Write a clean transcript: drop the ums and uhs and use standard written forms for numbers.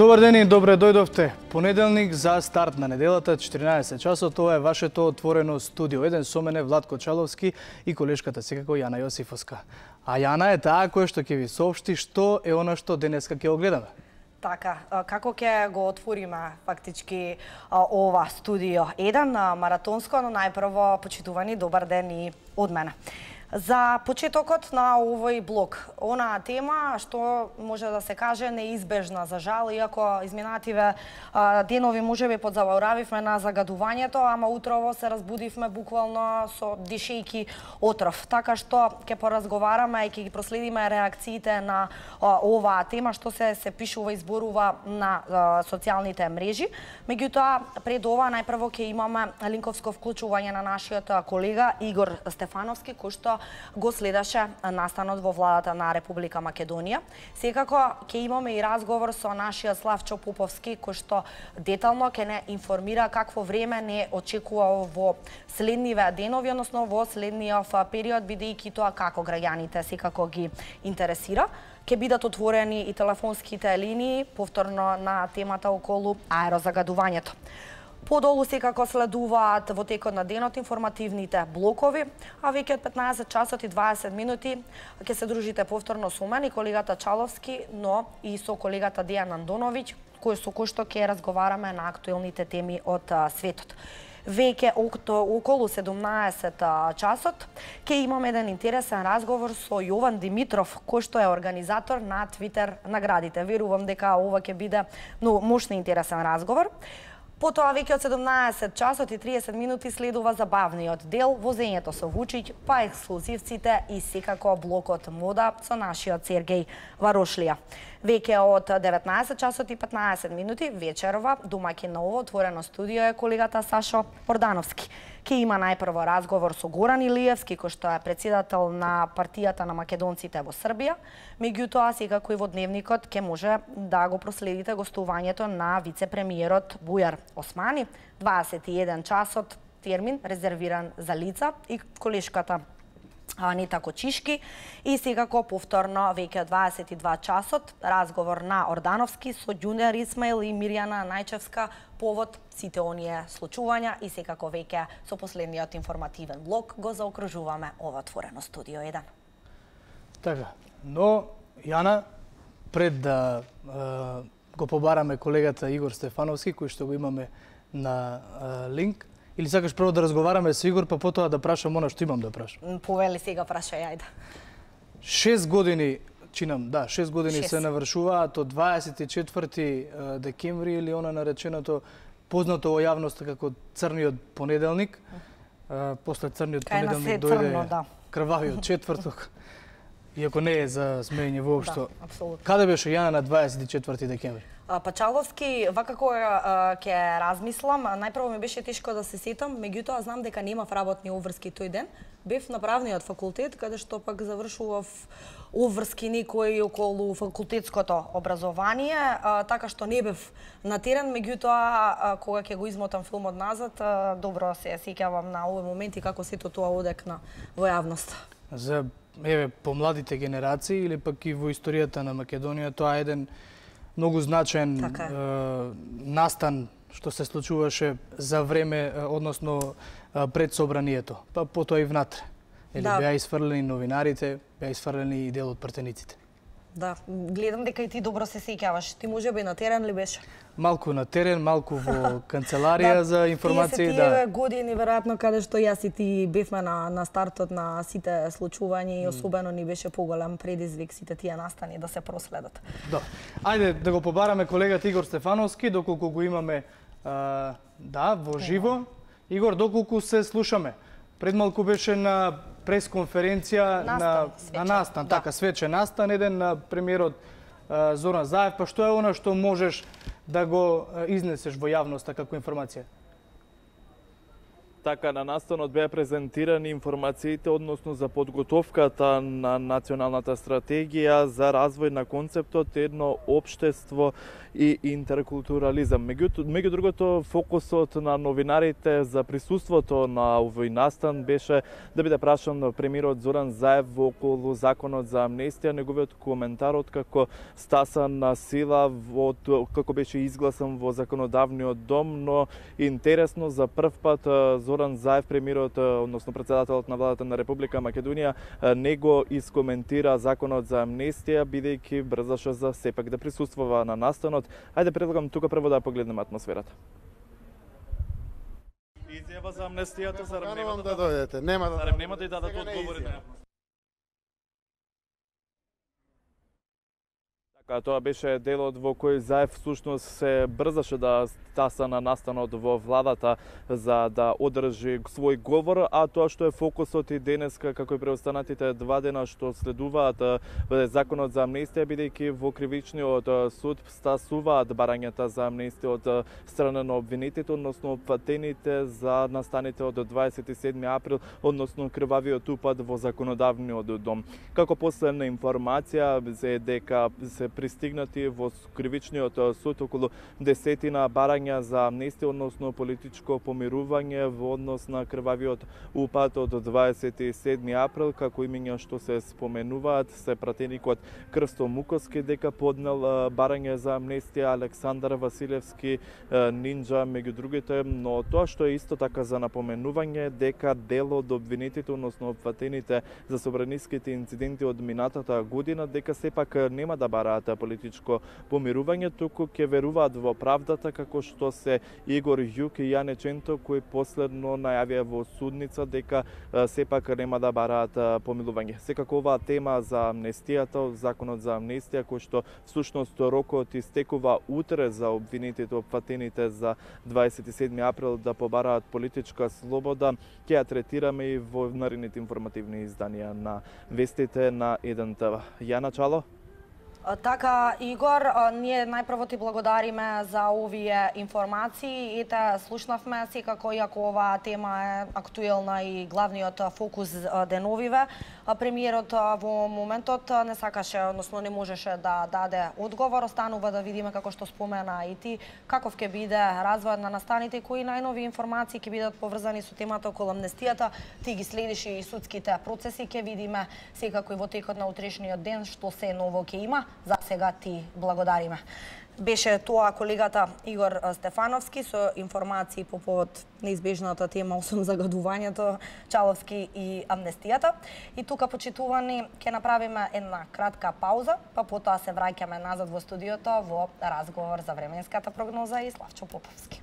Добар ден и добре дојдовте. Понеделник за старт на неделата, 14 часот, тоа е вашето отворено студио. Еден со мене Владко Чаловски и колешката секако Јана Јосифовска. А Јана е таа која што ќе ви соопшти што е она што денеска ќе огледаме. Така, како ќе го отвориме фактички ова студио 1 маратонско, но најпрво почитувани добар ден и од мене. За почетокот на овој блок, она тема што може да се каже неизбежна за жал, иако изминативе денови можеби подзаборавивме на загадувањето, ама утрово се разбудивме буквално со дишејки отров. Така што ќе поразговараме и ќе ги проследиме реакциите на оваа тема што се пишува и зборува на социјалните мрежи. Меѓутоа, пред ова најпрво ќе имаме линковско вклучување на нашиот колега Игор Стефановски, кој што го следаше настанот во владата на Република Македонија. Секако ќе имаме и разговор со нашиот Славчо Поповски, кој што детално ќе не информира какво време не очекува во следниве денови, односно во следниот период, бидејќи тоа како граѓаните секако ги интересира. Ќе бидат отворени и телефонските линии, повторно на темата околу аерозагадувањето. Подолу секако следуваат во текот на денот информативните блокови, а веќе од 15 часот и 20 минути ќе се дружите повторно со мене и колегата Чаловски, но и со колегата Дејан Андоновиќ, со кој што ќе разговараме на актуелните теми од светот. Веќе околу 17 часот ќе имаме еден интересен разговор со Јован Димитров, кој што е организатор на Твитер наградите. Верувам дека ова ќе биде многу мощен и интересен разговор. Потоа веќе од 17 часот и 30 минути следува забавниот дел, возењето со Вучиќ, па ексклузивците и секако блокот мода со нашиот Сергеј Варошлија. Веќе од 19 часот и 15 минути вечерова домаќин на ово отворено студио е колегата Сашо Ордановски. Ке има најпрво разговор со Горан Илиевски, кој што е председател на партијата на македонците во Србија. Меѓутоа, секако и во дневникот ке може да го проследите гостувањето на вице-премиерот Бујар Османи. 21 часот термин резервиран за лица и колешката Анита Кочишки и секако повторно веќе 22 часот разговор на Ордановски со Ѓунер Исмаил и Мирјана Најчевска повод сите оние случувања и секако веќе со последниот информативен блок го заокружуваме ова отворено студио 1. Така, но Јана, пред да го побараме колегата Игор Стефановски, кој што го имаме на линк, или сакаш прво да разговараме со Игор, па потоа да прашам она што имам да прашам? Повели сега прашај, ајде. 6 години, чинам, да, 6 години се навршуваат од 24 декември или она нареченото познато во јавноста како црниот понеделник. После црниот понеделник дојде крвавиот четврток. Иако не е за смеење воопшто. Да, каде беше Јана на 24 декември? Пачаловски, вака која ќе размислам, најпрво ми беше тешко да се сетам, меѓутоа знам дека немав работни обврски тој ден. Бев на правниот факултет, каде што пак завршував обврски некои околу факултетското образование, така што не бев на терен, меѓутоа кога ќе го измотам филмот назад, добро се сеќавам на овој момент и како сето тоа одекна во јавноста. За помладите генерации или пак и во историјата на Македонија, тоа е еден многу значаен настан што се случуваше за време, односно пред собранието, па потоа и внатре. Беа изфрлени новинарите, беа изфрлени и дел од пратениците. Да, гледам дека и ти добро се сеќаваш. Ти можеби на терен ли беше? Малку на терен, малку во канцеларија за информации. Тие години, веројатно, каде што јас и ти бевме на стартот на сите случувања и особено ни беше поголем предизвик сите тие настани да се проследат. Да. Ајде да го побараме колегата Игор Стефановски, доколку го имаме во живо. Игор, доколку се слушаме? Пред малку беше на пресконференција на настан, така, свечен настан, еден на премиерот Зоран Заев, па што е она што можеш да го изнесеш во јавноста како информација? Така, на настанот беа презентирани информациите односно за подготовката на националната стратегија за развој на концептот едно општество и интеркултурализам. Меѓу другото, фокусот на новинарите за присуството на овој настан беше да биде прашан премиерот Зоран Заев во околу законот за амнестија, неговиот коментар откако стасан на сила како беше изгласан во законодавниот дом, но интересно за прв пат Зоран Заев, премиерот, односно председателот на владата на Република Македонија, не го искоментира законот за амнестија, бидејќи брзаше за сепак да присуствува на настанот. Ајде предлагам тука прво да погледнеме атмосферата. Изјава за амнестијата, зарем нема да дојдете, нема да дадат одговори на Тоа беше делот во кој Заев всушност се брзаше да стаса на настанот во владата за да одржи свој говор, а тоа што е фокусот и денеска, како и преостанатите 2 дена што следуваат законот за амнестија, бидејќи во кривичниот суд стасуваат барањата за амнестија од страна на обвинетите, односно опфатените за настаните од 27 април, односно крвавиот упад во законодавниот дом. Како последна информација е дека се пристигнати во кривичниот суд околу 10 барања за амнестија, односно политичко помирување во однос на крвавиот упад од 27 април, како имиња што се споменуваат, се пратеникот Крсто Муковски дека поднел барање за амнестија, Александар Василевски, Нинџа, меѓу другите, но тоа што е исто така за напоменување дека дел од обвинетите, односно опфатените за собраниските инциденти од минатата година, дека сепак нема да бараат политичко помирување, туку ќе веруваат во правдата, како што се Игор Јук и Јане Ченто, кои последно најавија во судница дека сепак нема да бараат помилување. Секако оваа тема за амнестијата, законот за амнестија, кој што всушност рокот истекува утре за обвинетите, опфатените за 27 април да побараат политичка слобода, ќе ја третираме и во наредните информативни изданија на вестите на 1 ТВ. Јана Чало? Така, Игор, ние најпрво ти благодариме за овие информации и те слушнавме, секако иако оваа тема е актуелна и главниот фокус деновиве. Премиерот во моментот не сакаше, односно не можеше да даде одговор, останува да видиме како што спомена и ти, каков ќе биде развојот на настаните и кои најнови информации ќе бидат поврзани со темата околу амнестијата. Ти ги следиш и судските процеси, ќе видиме секако и во текот на утрешниот ден што се ново ќе има. За сега ти благодариме. Беше тоа колегата Игор Стефановски со информации по повод неизбежната тема осум загадувањето, Чаловски и амнестијата. И тука, почитувани, ќе направиме една кратка пауза, па потоа се враќаме назад во студиото во разговор за временската прогноза и Славчо Поповски.